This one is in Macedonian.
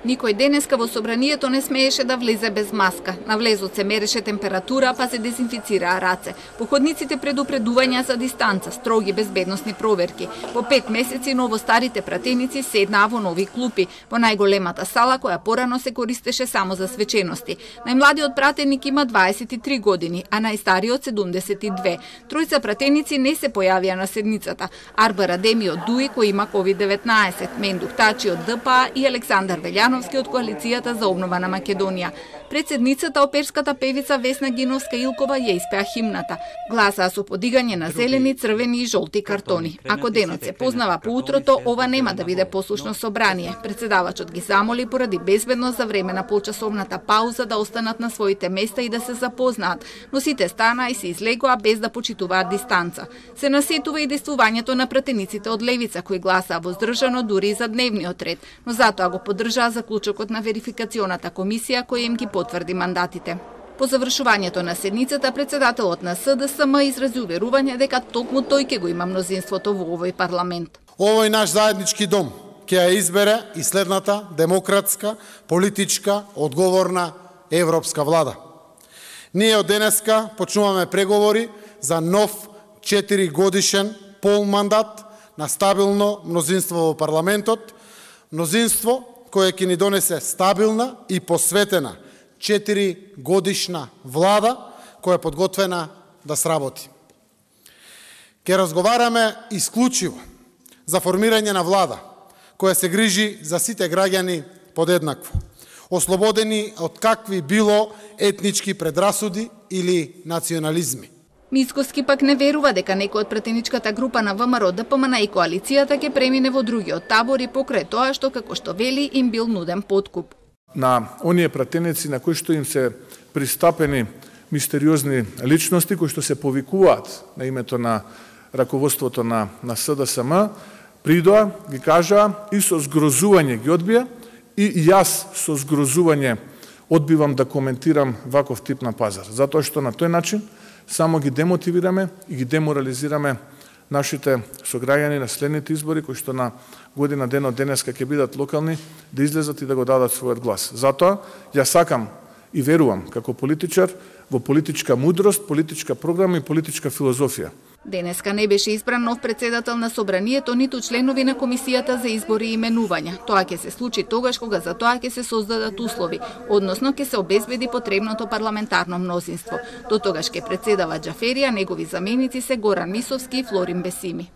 Никој денеска во собранието не смееше да влезе без маска. На влезот се мереше температура, па се дезинфицираа раце. По ходниците предупредувања за дистанца, строги безбедносни проверки. По 5 месеци новостарите пратеници седнаа во нови клупи, во најголемата сала која порано се користеше само за свечености. Најмладиот пратеник има 23 години, а најстариот 72. Тројца пратеници не се појавија на седницата. Арбар Адеми од ДУИ кој има COVID-19, Мендух Тачи од ДПА и Александар Велјановски од Коалицијата за обнова на Македонија. Пред седницата оперската певица Весна Гиновска-Илкова ја испеа химната. Гласаа со подигање на зелени, црвени и жолти картони. Ако денот се познава по утрото, ова нема да биде послушно собрание. Председавачот ги замоли поради безбедност за време на полчасовната пауза да останат на своите места и да се запознаат, но сите станаа и се излегоа без да почитуваат дистанца. Се насетува и действувањето на пратениците од левица кои гласаа воздржано дури и за дневниот ред, но затоа го поддржаа заклучокот на верификационата комисија која им ги потврди мандатите. По завршувањето на седницата, председателот на СДСМ изрази уверување дека токму тој ќе го има мнозинството во овој парламент. Овој наш заеднички дом ќе ја избере и следната демократска, политичка, одговорна европска влада. Ние од денеска почнуваме преговори за нов 4 годишен полмандат на стабилно мнозинство во парламентот, мнозинство кое ќе ни донесе стабилна и посветена 4 годишна влада која е подготвена да сработи. Ке разговараме исклучиво за формирање на влада која се грижи за сите граѓани подеднакво, ослободени од какви било етнички предрасуди или национализми. Мицкоски пак не верува дека некој од пратеничката група на ВМРО, ДПМН и коалицијата ќе премине во другиот табор и покрај тоа што, како што вели, им бил нуден подкуп. На оние пратеници на кои што им се пристапени мистериозни личности кои што се повикуваат на името на раководството на СДСМ, придоа, ги кажаа и со згрозување ги одбија и јас со згрозување одбивам да коментирам ваков тип на пазар. Затоа што на тој начин само ги демотивираме и ги деморализираме нашите сограѓани на следните избори, кои што на година ден од денеска ќе бидат локални, да излезат и да го дадат својот глас. Затоа, ја сакам и верувам како политичар во политичка мудрост, политичка програма и политичка филозофија. Денеска не беше избран нов председател на собранието, ниту членови на комисијата за избори и именувања. Тоа ќе се случи тогаш кога за тоа ќе се создадат услови, односно ќе се обезбеди потребното парламентарно мнозинство. До тогаш ќе председава Џафери, а негови заменици се Горан Мисовски и Флорин Бесими.